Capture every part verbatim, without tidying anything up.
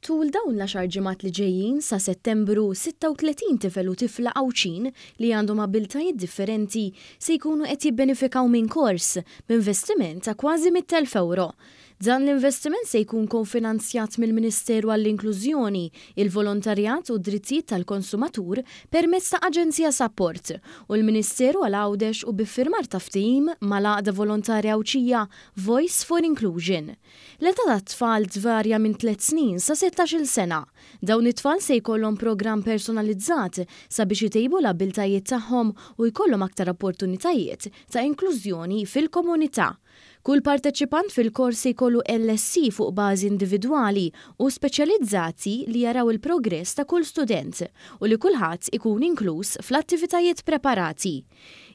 Tul dawn l-għaxar ġimgħat li ġejjin sa Settembru, sitta u tletin tifel u tifla Għawdxin li għandhom abbiltajiet differenti se jkunu qed jibbenefikaw minn kors b'investiment ta' kważi mitt elf ewro. Dan l-investiment se jkun konfinanzjat mill-Ministeru għall-Inklużjoni, il-Volontarjat u d-Drittijiet tal-Konsumatur permezz ta' Aġenzija Sapport u l-Ministeru għal Għawdex u b'iffirmar ta' ftehim mal-Għaqda Volontarja Għawdxija Voice for Inclusion. L-età tat-tfal tvarja minn tliet snin sa sittax-il sena. Dawn it-tfal se jkollhom programm personalizzat sabiex itejbu l-abbiltajiet tagħhom u jkollhom aktar opportunitajiet ta' inklużjoni fil-komunità. Kull parteċipant fil-kors se jkollu L S C fuq bażi individwali u speċjalizzati li jaraw il-progress ta' kull student u li kulħadd ikun inkluż fl-attivitajiet preparati.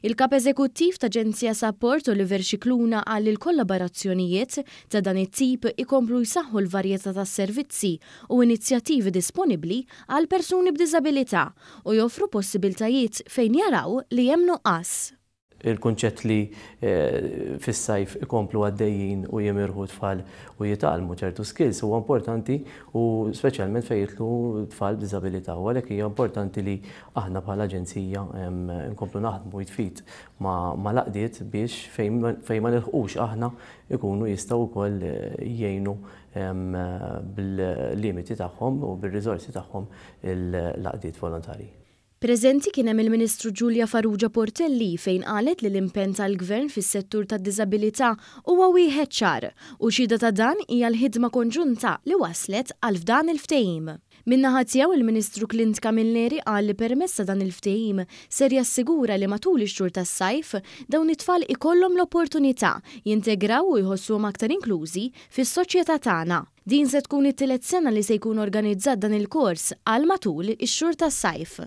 Il-kap eżekuttiv ta' Aġenzija Sapport Oliver Scicluna qal li l-kollaborazzjonijiet ta' dan it-tip ikomplu jsaħħu l-varjetà ta' servizzi u inizjattivi disponibbli għal persuni b'diżabilità u joffru possibiltajiet fejn jaraw li hemm nuqqas. Il-kunċett li, eh, fis-sajf ikomplu għaddejjin u jimirħu tfal u jitgħallmu ċertu skills huwa importanti u speċjalment fejn jidħlu tfal b'diżabilità. U għalhekk hija importanti li aħna bħala aġenzija, em, nkomplu naħdmu jitfit ma', ma' l-għaqdiet biex fejn ma, fejn ma nilħqux aħna ikunu jistgħu wkoll, eh, jgħinu, em, bil-limiti tagħhom u bir-riżorsi tagħhom l-għaqdiet volontarji. Preżenti kien hemm il-Ministru Julia Farrugia Portelli fejn qalet li l-impenn tal-Gvern fis-settur tad-diżabilità huwa wieħed ċar u xhieda ta' dan hija l-ħidma konġunta li waslet għal f'dan il-ftehim. Min-naħa tiegħu il-Ministru Clint Camilleri qal li permezz ta' dan il-ftehim ser jassigura li matul ix-xhur tas-sajf dawn it-tfal ikollhom l-opportunità jintegraw u jħossuhom aktar inklużi fis-soċjetà tagħna. Din se tkun it-tielet sena li se jkun organizzat dan il-kors għal matul ix-xhur tas-sajf.